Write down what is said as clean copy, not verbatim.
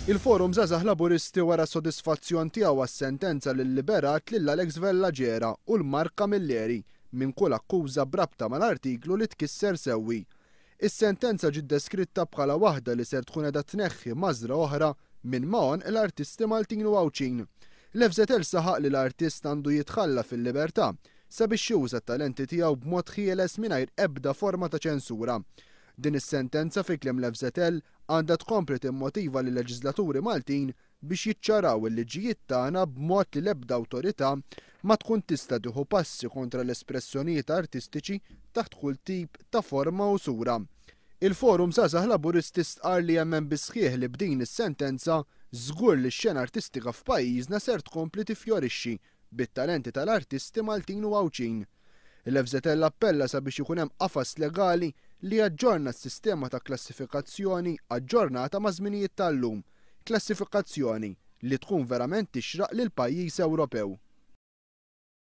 Il-Forum Żgħażagħ Laburisti wera s-sodisfazzjon tiegħu għas-sentenza li lliberat lil Alex Vella Gera u l-Mark Camilleri minn kull akkuża b'rabta mal-artiklu li tkisser sewwi. Is-sentenza ġiet deskritta bħala waħda li ser tkun qiegħda tneħħi mażra oħra minn ma' għonq l-artisti Maltin u Għawdxin. L-FŻL saħaq li l-artist għandu jitħalla fil-libertà sabiex juża t-talenti tiegħu b'mod ħieles mingħajr ebda forma ta' ċensura. Din is-sentenza fi kliem l-FŻL għandha tkompli timmotiva lil-leġiżlaturi Maltin biex jiċċaraw il-liġijiet tagħna b'mod li l-ebda awtorità ma tkun tista' tieħu passi kontra l-espressjonijiet artistiċi taħt kull tip ta' forma u sura. Il-Forum Żgħażagħ Laburisti stqarr li jemmen bis-sħiħ li b'din is-sentenza żgur li x-xena artistika f'pajjiżna ser tkompli tiffjorixxi bit-talenti tal-artisti Maltin u Għawdxin. Il-FŻL appella sabiex ikun hemm qafas legali li jaġġorna s-sistema ta' klassifikazzjoni aġġornata maż-żminijiet tal-lum, klassifikazzjoni li tkun verament tixraq lil pajjiż Ewropew.